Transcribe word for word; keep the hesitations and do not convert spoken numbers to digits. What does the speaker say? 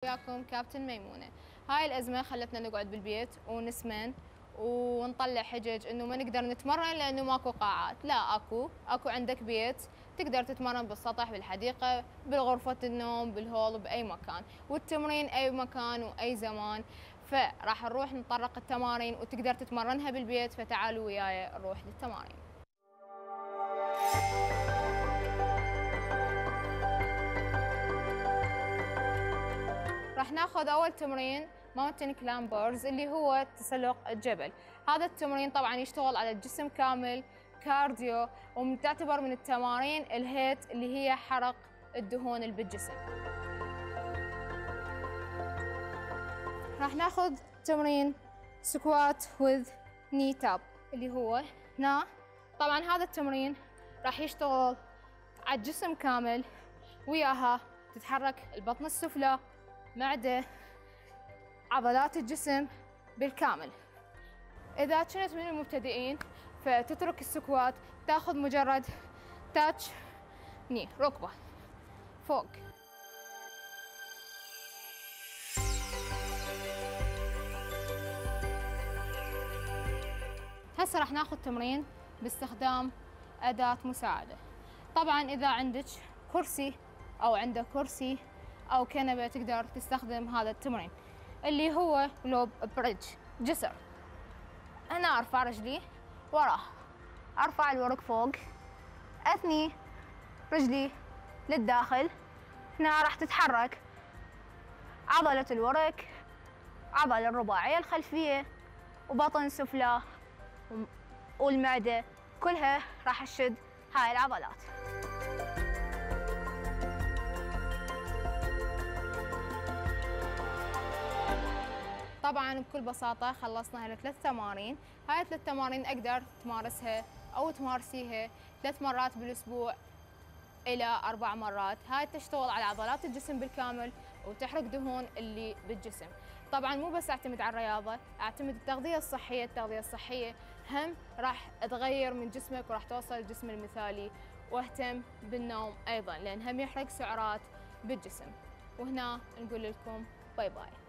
وياكم كابتن ميمونة. هاي الأزمة خلتنا نقعد بالبيت ونسمن ونطلع حجج انه ما نقدر نتمرن لانه ماكو قاعات. لا، اكو اكو عندك بيت تقدر تتمرن بالسطح، بالحديقة، بالغرفة النوم، بالهول، بأي مكان، والتمرين أي مكان وأي زمان. فراح نروح نطرق التمارين وتقدر تتمرنها بالبيت، فتعالوا وياي نروح للتمارين. راح ناخذ اول تمرين ماونتن كلامبرز اللي هو تسلق الجبل. هذا التمرين طبعا يشتغل على الجسم كامل، كارديو، وتعتبر من التمارين الهيت اللي هي حرق الدهون اللي بالجسم. راح ناخذ تمرين سكوات وذ ني تاب اللي هو هنا. طبعا هذا التمرين راح يشتغل على الجسم كامل، وياها تتحرك البطن السفلى، معدة، عضلات الجسم بالكامل. إذا كنت من المبتدئين فتترك السكوات، تاخذ مجرد تاتش ني ركبة فوق. هسه راح ناخذ تمرين باستخدام أداة مساعدة. طبعا إذا عندك كرسي أو عندك كرسي أو كنبة تقدر تستخدم هذا التمرين اللي هو لوب بريدج، جسر. هنا أرفع رجلي وراه، أرفع الورك فوق، أثني رجلي للداخل. هنا راح تتحرك عضلة الورك، عضلة الرباعية الخلفية، وبطن سفلى والمعدة، كلها راح تشد هاي العضلات. طبعا بكل بساطة خلصنا هاي الثلاث تمارين. هاي الثلاث تمارين اقدر تمارسها او تمارسيها ثلاث مرات بالاسبوع الى اربع مرات. هاي تشتغل على عضلات الجسم بالكامل وتحرق دهون اللي بالجسم. طبعا مو بس اعتمد على الرياضة، اعتمد التغذية الصحية. التغذية الصحية هم راح تغير من جسمك وراح توصل الجسم المثالي. واهتم بالنوم ايضا لان هم يحرق سعرات بالجسم. وهنا نقول لكم باي باي.